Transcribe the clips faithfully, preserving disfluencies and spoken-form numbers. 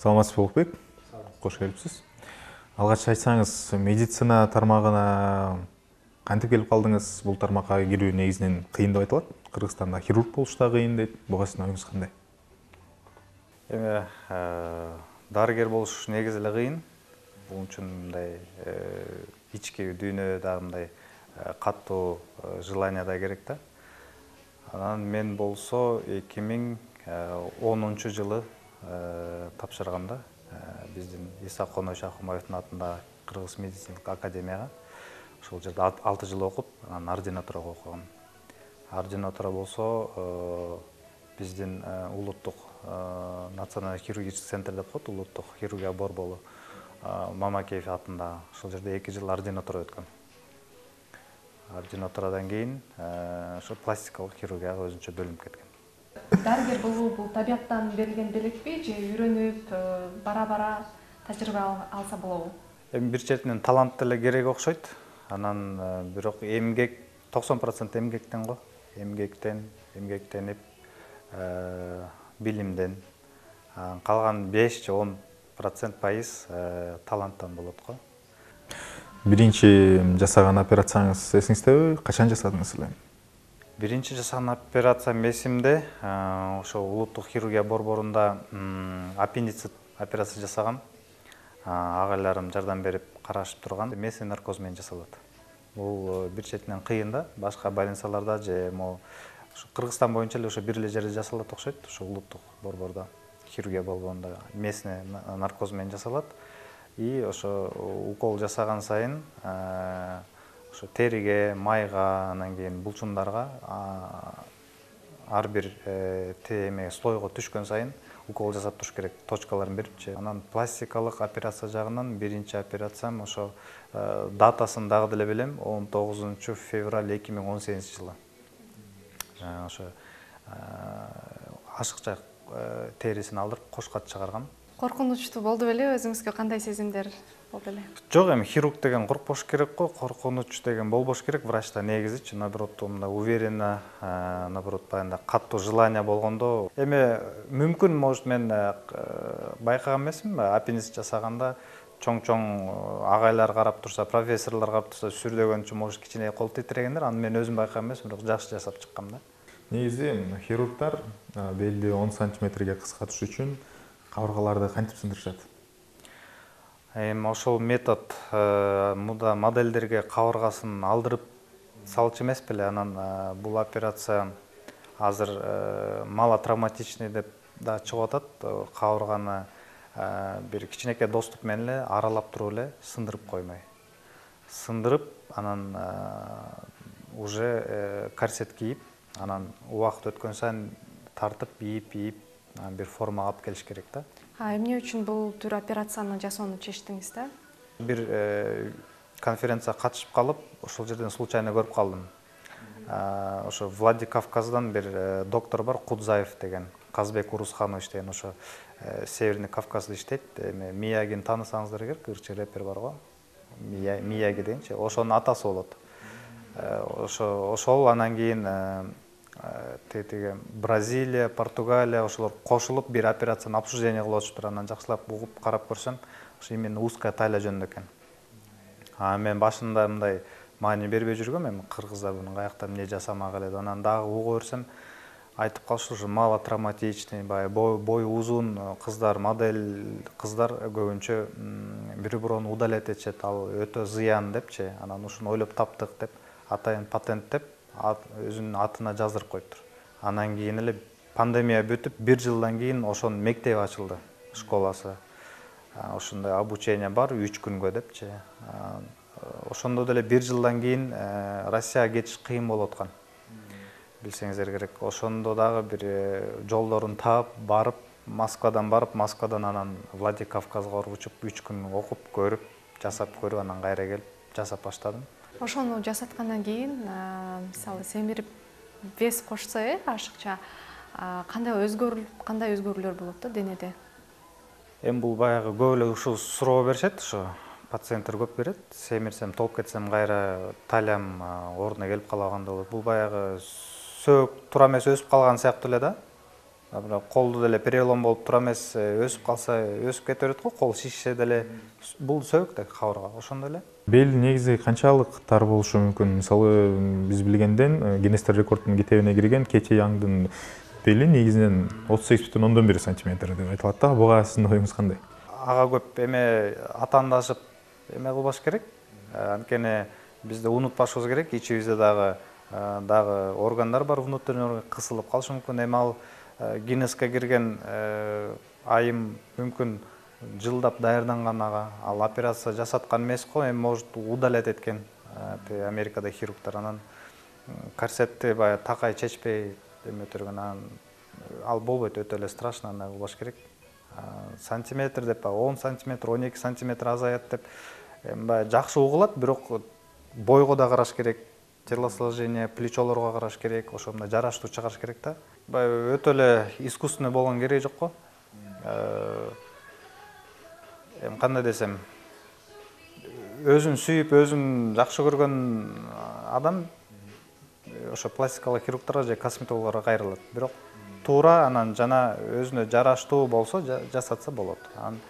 Саламатсызбы Улукбек? Кош келипсиз. Алгач айтсаңыз, медицина тармагына кантип келип калдыңыз? Бул тармакка кирүү негизинен кыйын деп айтылат. Кыргызстанда хирург болуш да кыйын дейт. Буга сиздин оюңуз кандай? Эми дарыгер болуш негизи эле кыйын. Бул үчүн мындай ички дүйнөдө мындай каттуу желание да керек да. Анан мен болсо эки миң онунчу жылы тапшырганда биздин Иса Коной Шакымбаевдин атындагы Кыргыз медициналык академияга ошол жерде алты жыл окуп, анан ординатурага окугам. Ординатура болсо биздин улуттук национальный хирургический центр деп коет, улуттук хирургия борбору Мамакеев атында. Ошол жерде эки жыл ординатура өткөм. Ординатурадан кийин ошо пластикалык хирургияга өзүнчө бөлүнүп кеткен. Дарыгер болуу бул табияттан берилген белекпи же үйрөнүп, бара-бара тажрыйба алса болобу? Эми бир четинен талант деле керек окшойт. Анан бирок эмгек токсон процент эмгектен го. Эмгектен, эмгектенип, билимден. Калган беш же он процент пайыз таланттан болот го. Биринчи жасаган операцияңыз эсиңиздеби? Качан жасадыңыз эле? Биринчи жасаган операциям эсимде. Ошо улуттук хирургия борборунда аппендицит операция жасагам. Агайларым жардам берип карашып турган. Месный наркоз менен жасалат. Бул бир четинен кыйын да, башка больницаларда же могу Кыргызстан боюнча эле ошо бир эле жерде жасалат окшойт. Ошо улуттук борбордо, хирургия борборунда месный наркоз менен жасалат. И ошо укол жасаган сайын ошо териге, майга, анан кийин булчундарга ар бир теме слойго түшкөн сайын укол жасап туруш керек, точкаларын берипчи. Анан пластикалык операция жагынан биринчи операциям ошо датасын дагы деле билем, он тогузунчу февраль эки миң он сегизинчи жылы. Ошо ашыкча терисин алдырып кошкат чыгаргам. Коркунучтуу болду беле, өзүңүзгө кандай сезимдер болду эле? Жок, эми хирург деген коркпош керек го, коркунуч деген болбош керек. Врачта негизичи, наоборот, мындай уверенно, наоборот, баягындай каттуу желание болгондо. Эми мүмкүн, может, мен байкаган эмесмин, аппендицит жасаганда чоң-чоң агайлар карап турса, профессорлор карап турса, сүрдөгөнчү, может, кичине кол титирегендер. Аны мен өзүм байкаган эмесмин, бирок жакшы жасап чыккам да. Негизи хирургдар белди он сантиметрге кыскартыш үчүн кабыргаларды кантип сындырышат? Эми ошол метод муда модельдерге кабыргасын алдырып салчу эмес беле. Анан бул операция азыр малотравматичный деп да чыгып атат. Кабырганы бир кичинекей доступ менен эле аралап туруп эле сындырып коймой. Сындырып, анан уже корсет кийип, анан убакыт өткөн сайын тартып, ийип, ийип бир формага алып келиш керек да. А эмне үчүн бул түр операцияны жасоону чечтиңиз да? Бир конференцияга катышып калып, ошол жерден случайно көрүп калдым. Ошо Владикавказдан бир доктор бар, Кудзаев деген, Казбек Урусханович деген, ошо Северный Кавказда иштейт. Эми Миягини таанысаңыздар керек, ырчы репер бар го. Мияги дегенчи, ошонун атасы болот. Ошо ошол анан кийин тетиги Бразилия, Португалия ошолор кошулуп бир операцияны обсуждение кылып атышыптыр. Анан жакшылап угуп карап көрсөм, ошо именно узкая талия жөнүндө экен. А мен башында мындай маани бербей жүргөм, эми кыргыздар муну каякта эмне жасамак эле. Анан дагы угуп көрсөм, айтып калышы ушу малотравматичный, баягы бою узун кыздар, модель кыздар көбүнчө бири-бирөөнү удалять этишет, ал өтө зыян депчи. Анан ушуну ойлоп таптык деп, атайын патент деп өзүнүн атына жаздырып коюптур. Анан кийин эле пандемия бүтүп, бир жылдан кийин ошонун мектеби ачылды, школасы. Ошондой обучение бар, үч күнгө депчи. Ошондо деле бир жылдан кийин Россияга кетиш кыйын болуп аткан. Билсеңиздер керек. Ошондо дагы бир жолдорун таап, барып, Москвадан барып, Москвадан анан Владикавказга учуп, үч күн окуп, көрүп, жасап көрүп, анан кайра келип жасап баштадым. Ошону жасаткандан кийин, мисалы, семирип вес кошсо, э, ашыкча, кандай өзгөрүлүп, кандай өзгөрүүлөр болот да денеде? Эми бул баягы көп эле ушул суроо беришет, ошо пациенттер көп берет. Семирсем, толуп кетсем, кайра талиям ордуна келип калагандай болот. Бул баягы сөөк туура эмес өсүп калган сыяктуу эле да. бирок колду деле перелом болуп тура эмес, өсүп калса өсүп кете берет го, кол шишсе деле бул сөбүк да кабырга, ошондой эле. Бел негизи канчалык тар болушу мүмкүн? Мисалы, биз билгенден Гиннестер рекорддун китебине кирген Кече Яңдын бели негизинен отуз сегиз бүтүн ондон бир сантиметр деп айтылат да. Буга сиздин оюңуз кандай? Ага көп эме атаандашып эме кылбаш керек. Анткени бизде унутпашыбыз керек, ичибизде дагы дагы органдар бар, внутренний орган кысылып калышы мүмкүн. Эми ал Гиннеске кирген айым мүмкүн жылдап даярданган ага, ал операция жасаткан эмес го, эми может удалять эткен Америкада хирургдар, анан корсетти баягы такай чечпей эме өтөргөн, анан ал болбойт, өтө эле страшно, андай кылбаш керек. Сантиметр деп, он сантиметр, он эки сантиметр азаят деп эми баягы жакшы угулат, бирок бойго да караш керек, телосложение, плечолорго караш керек, ошо мындай жараштуу чыгарыш керек да. Баягы өтө эле искусственный болгон кереги жок го. Эми кандай десем, өзүн сүйүп, өзүн жакшы көргөн адам ошо пластикалык хирургдарга же косметологторго кайрылат. Бирок туура анан жана өзүнө жараштуу болсо жасатса болот. Анан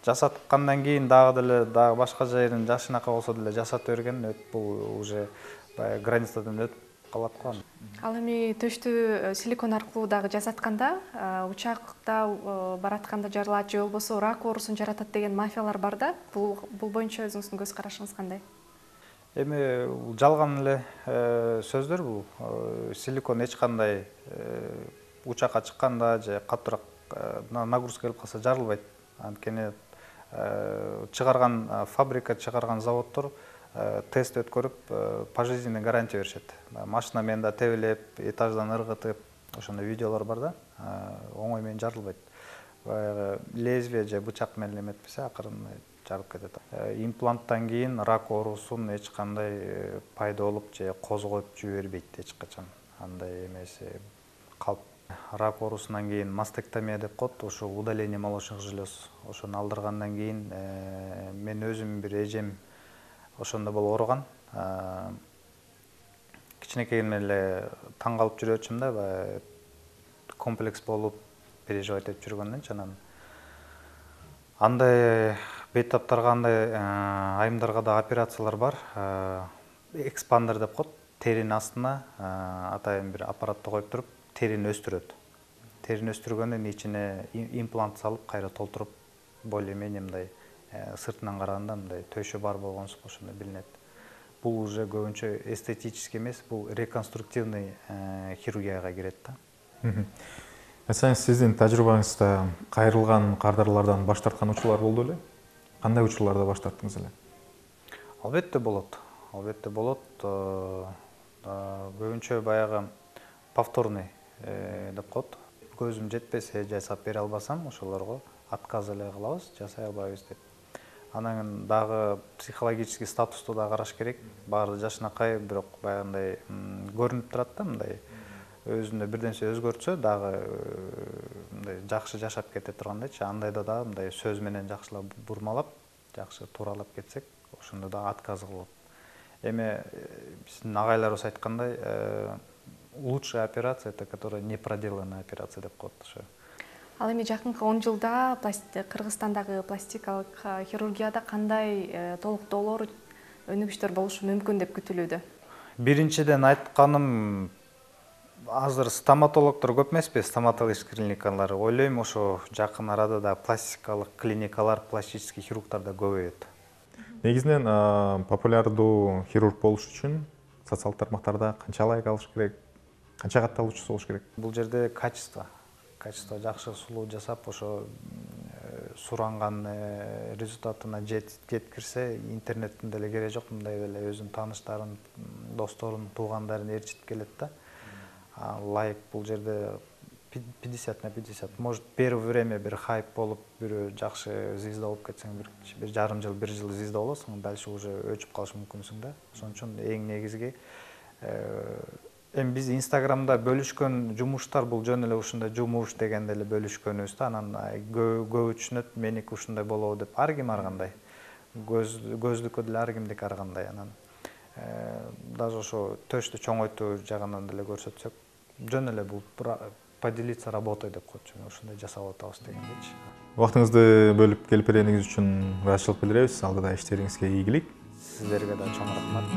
жасаткандан кийин дагы деле дагы башка жерин жакшынакай болсо деле жасата берген, бул уже баягы границадан өтүп калат го. Ал эми төштү силикон аркылуу дагы жасатканда, учакта баратканда жарылат же болбосо рак оорусун жаратат деген мафиялар бар да. Бул бул боюнча өзүңүздүн көз карашыңыз кандай? Эми жалган эле сөздөр бул. Силикон эч кандай учакка чыкканда же катуураак нагрузка келип калса жарылбайт. Анткени чыгарган фабрика, чыгарган заводдор тест өткөрүп, пожизненный гарантия беришет. Машина менен да тебелеп, этаждан ыргытып, ошондой видеолор бар да, оңой менен жарылбайт. Баягы лезвие же бычак менен эметпесе, акырын жарылып кетет. Импланттан кийин рак оорусун эч кандай пайда болуп же козгоюп жибербейт эч качан. Андай эмеси калп. Рак оорусунан кийин мастектомия деп коет, ошо удаление молочных желез. Ошону алдыргандан кийин мен өзүм бир эжем ошондо болуп ооруган. Кичинекейимден эле таң калып жүрөчүм да, баягы комплекс болуп, переживать этип жүргөндөнчү, анан андай бейтаптарга, андай айымдарга да операциялар бар. Экспандер деп коет, теринин астына атайын бир аппаратты коюп туруп, терини өстүрөт. Терини өстүргөндөн ичине имплант салып, кайра толтуруп, более-менее мындай сыртынан караганда мындай төшү бар болгонсуп ошондой билинет. Бул уже көбүнчө эстетический эмес, бул реконструктивный хирургияга кирет да. Айтсаңыз, сиздин тажрыйбаңызда кайрылган кардарлардан баш тарткан учурлар болду беле? Кандай учурларда баш тарттыңыз эле? Албетте болот. Албетте болот. Көбүнчө баягы повторный деп коет. Көзүм жетпесе, жасап бере албасам, ошолорго отказ эле кылабыз, жасай албайбыз деп. Анан дагы психологический статусту да караш керек. Баары жашынакай, бирок баягындай көрүнүп турат да, мындай өзүндө бир нерсе өзгөртсө дагы мындай жакшы жашап кете тургандайчы. Андайда дагы мындай сөз менен жакшылап бурмалап, жакшы тууралап кетсек, ошондо дагы отказ кылып. Эми биздин агайларыбыз айткандай, лучшая операция это которая не проделанная операция деп коет ошо. Ал эми жакынкы он жылда Кыргызстандагы пластикалык хирургияда кандай толуктоолор, өнүгүштөр болушу мүмкүн деп күтүлүүдө? Биринчиден айтканым, азыр стоматологдор көп эмеспи, стоматологический клиникалар. Ойлойм, ошо жакын арада да пластикалык клиникалар, пластический хирургдар да көбөйөт. Негизинен популярдуу хирург болуш үчүн социалдык тармактарда канча лайк алыш керек, канча катталуучусу болуш керек? Бул жерде качество. Качество жакшы сулуу жасап, ошо суранган результатына жеткирсе, интернеттин деле кереги жок, мындай деле өзүнүн тааныштарын, досторун, туугандарын ээрчитип келет да. Лайк бул жерде пятьдесят на пятьдесят. Может, первое время бир хайп болуп, бирөө жакшы звезда болуп кетсең, бир жарым жыл, бир жыл звезда болосуң, дальше уже өчүп калышы мүмкүнсүң да. Ошон үчүн эң негизги эми биз Инстаграмда бөлүшкөн жумуштар бул жөн эле ушундай жумуш дегенде эле бөлүшкөнүбүз да, анан көп түшүнөт, меники ушундай болобу деп. Ар ким ар кандай. Көздүккө деле ар кимдики ар кандай. Анан даже ошо төштү чоңойтуу жагынан деле көрсөтсөк, жөн эле бул поделиться работой деп коет, ошондой жасап атабыз дегендейчи. Убактыңызды бөлүп келип бергениңиз үчүн ыраазычылык билдиребиз. Алдыда иштериңизге ийгилик. Сиздерге да чоң рахмат.